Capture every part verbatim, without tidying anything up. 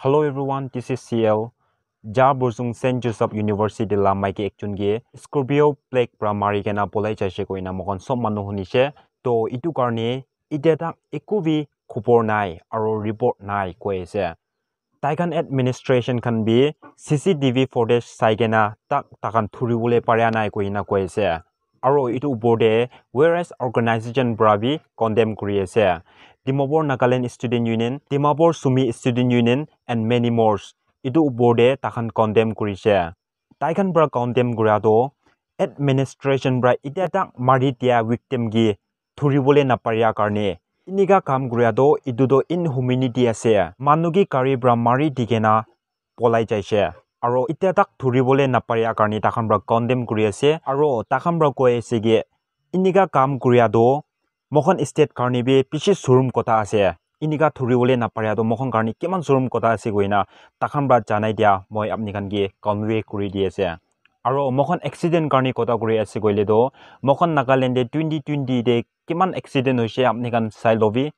Hello everyone, this is C L. Ja Bursung Saint Joseph University la maiki ekjon ke Scorpio plague pra mari kena polai jaise koina moikhan sob manu hunishe. To itu karne itya tak eku bi khubor nai aro report nai koi ase. Taikhan administration khan bi C C T V footage sai kena tak takhan thuribole paria nai koina koi ase. Aro itu upor te various organization pra bi condemn kuri ase. Dimapur Nagaland Student Union, Dimapur Sumi Student Union and many more. Itu upor te takhan condemn kurise. Taikhan pra condemn kura toh administration pra itya tak mari dia victim ke thuribole naparia karne. Inika kam kuria toh itu toh inhumanity ase. Manu ke gari pra mari di kena polai jaise. Aro itya tak thuribole naparia karne takhan pra condemn kuri ase. Aro takhan pra koi ase ke inika kam kuria toh moikhan state karne bi bishi sorom kotha ase. Inika thuribole naparia toh moikhan karne kiman sorom kotha ase koina takhan pra janai dia moi apni khan ke convey kuri di ase. Aro moikhan accident karne kotha kuri ase koile toh moikhan Nagaland te twenty twenty te kiman accident hoise apni khan sai lobi.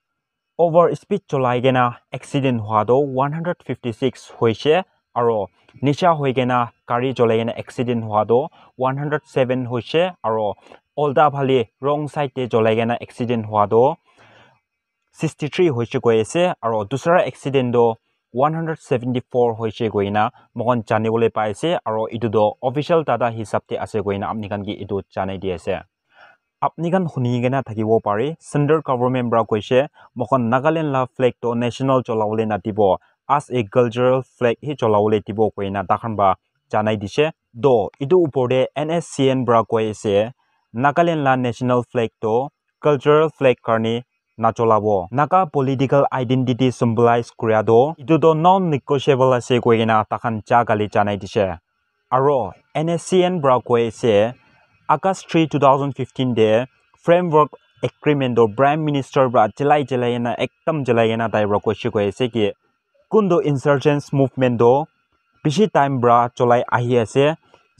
Over speed cholai kena accident hwa toh one hundred fifty six hoise, aro nisha hoi kena gari cholai kena accident hwa toh one hundred seven hoise, aro ulta phale wrong side te cholai kena accident hwa toh sixty three hoise koi ase, aro dusra accident toh one hundred seventy four hoise koina moikhan janibole pai ase, aro itu toh official data hisab te ase koina apni khan ke itu janai di ase. Apni khan huni kena thakibo pare, central government pra koise, moikhan Nagaland la flag toh national cholabole nadibo, as a cultural flag hi cholabole dibo koina takhan pra janai dise. Toh itu upor te N S C N pra koi ase, Nagaland la national flag toh cultural flag karne nacholabo. Naga political identity symbolize kuria toh itu toh non-negotiable ase koi kena takhan ja gali janai dise. Aro N S C N pra koi ase, August three, two thousand fifteen te framework agreement toh Prime Minister pra chelai chelai kena ekdam chelai kena tai pra koise koi ase ki kuntu insurgents movement toh bishi time pra cholai ahi ase.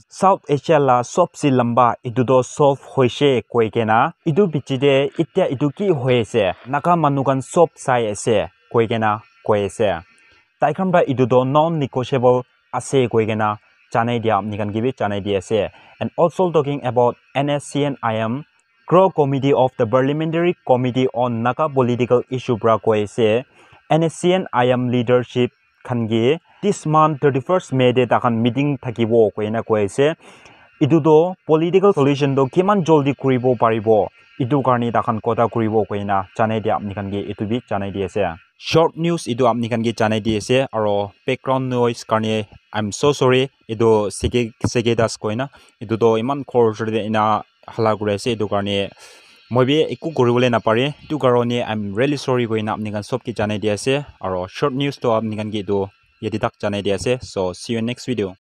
South Asia la sobse lamba itu toh solve hoise koi kena itu piche te itya itu ki hoi ase, Naga manu khan sob sai ase koi kena koi ase. Taikhan pra itu toh non-negotiable ase koi kena janai dia apni khan ke bi janai di ase. And also talking about N S C N I M, Core Committee of the Parliamentary Committee on Naga Political Issue pra koi ase, N S C N I M leadership khan ke this month thirty first May te takhan meeting thakibo koina koi ase. Itu toh political solution toh kiman joldi kuribo paribo, itu karne takhan kotha kuribo koina janai dia apni khan ke itu bi janai di ase. Short news itu apni khan ke janai di ase, aro background noise karne I'm so sorry. Itu seke seke das koina itu toh iman khor osor te ina hala kuri ase, itu karne moi bi eku kuribole napare, itu karone I'm really sorry koina apni khan sob ke janai di ase, aro short news toh apni khan ke itu yate tak janai di ase. So see you in next video.